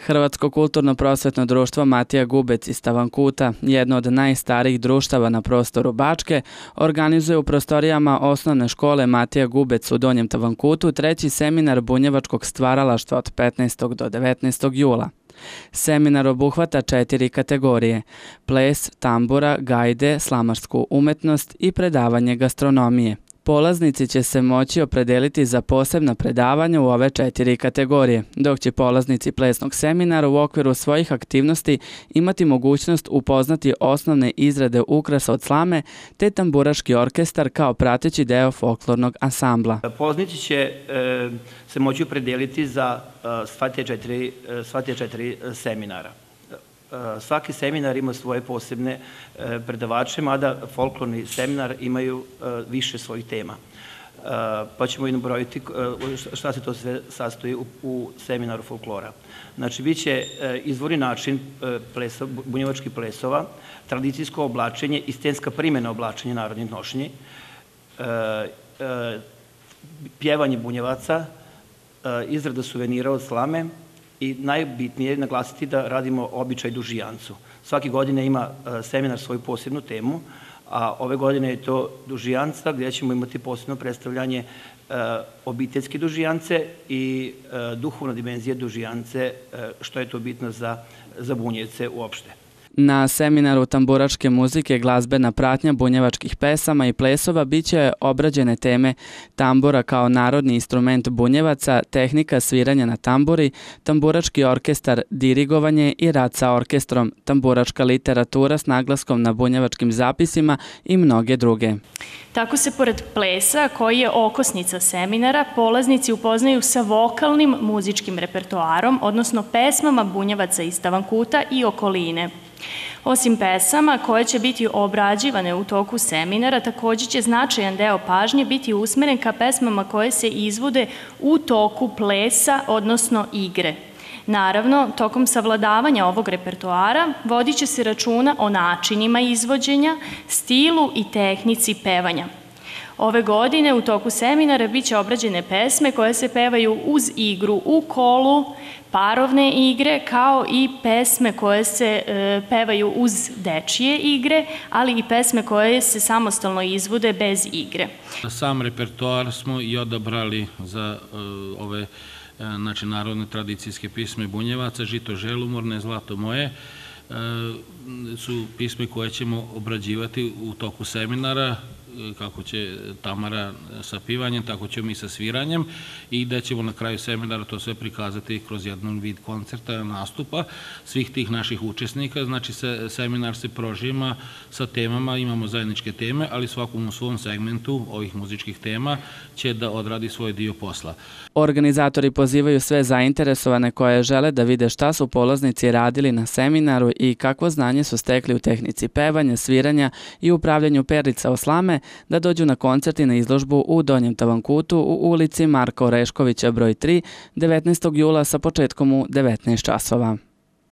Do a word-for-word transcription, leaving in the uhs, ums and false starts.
Hrvatsko kulturno-prosvetno društvo Matija Gubec iz Tavankuta, jedno od najstarijih društava na prostoru Bačke, organizuje u prostorijama osnovne škole Matija Gubec u Donjem Tavankutu treći seminar bunjevačkog stvaralaštva od petnaestog do devetnaestog jula. Seminar obuhvata četiri kategorije: ples, tambura, gajde, slamarsku umetnost i predavanje gastronomije. Polaznici će se moći opredeliti za posebna predavanja u ove četiri kategorije, dok će polaznici plesnog seminara u okviru svojih aktivnosti imati mogućnost upoznati osnovne izrade ukrasa od slame te tamburaški orkestar kao prateći deo folklornog ansambla. Polaznici će se moći opredeliti za sva te četiri seminara. Svaki seminar ima svoje posebne predavače, mada folklorni seminar imaju više svojih tema. Pa ćemo i nabrojiti šta se to sve sastoji u seminaru folklora. Znači, bit će izvorni način bunjevačkih plesova, tradicijsko oblačenje i scenska primjena oblačenja narodnih nošnji, pjevanje bunjevaca, izrada suvenira od slame, i najbitnije je naglasiti da radimo običaj dužijancu. Svake godine ima seminar svoju posebnu temu, a ove godine je to dužijanca gdje ćemo imati posebno predstavljanje obiteljske dužijance i duhovna dimenzija dužijance, što je to bitno za Bunjevce uopšte. Na seminaru tamburačke muzike, glazbena pratnja bunjevačkih pesama i plesova biće obrađene teme tambura kao narodni instrument bunjevaca, tehnika sviranja na tamburi, tamburački orkestar, dirigovanje i rad sa orkestrom, tamburačka literatura s naglaskom na bunjevačkim zapisima i mnoge druge. Tako se pored plesa, koji je okosnica seminara, polaznici upoznaju sa vokalnim muzičkim repertoarom, odnosno pesmama bunjevaca iz Tavankuta i okoline. Osim pesama koje će biti obrađivane u toku seminara, također će značajan deo pažnje biti usmeren ka pesmama koje se izvode u toku plesa, odnosno igre. Naravno, tokom savladavanja ovog repertoara vodit će se računa o načinima izvođenja, stilu i tehnici pevanja. Ove godine u toku seminara bit će obrađene pesme koje se pevaju uz igru u kolu, parovne igre, kao i pesme koje se pevaju uz dečije igre, ali i pesme koje se samostalno izvode bez igre. Sam repertoar smo i odabrali za ove znači, narodne tradicijske pisme bunjevaca, Žito želumorne, Zlato moje, su pisme koje ćemo obrađivati u toku seminara, kako će Tamara sa pivanjem, tako ćemo i sa sviranjem, i da ćemo na kraju seminara to sve prikazati kroz jedan vid koncerta, nastupa svih tih naših učesnika. Znači, seminar se prožima sa temama, imamo zajedničke teme, ali svakom u svom segmentu ovih muzičkih tema će da odradi svoj dio posla. Organizatori pozivaju sve zainteresovane koje žele da vide šta su polaznici radili na seminaru i kakvo znanje su stekli u tehnici pevanja, sviranja i upravljanju perlica o slame, da dođu na koncert i na izložbu u Donjem Tavankutu u ulici Marka Oreškovića broj tri devetnaestog jula sa početkom u devetnaest časova.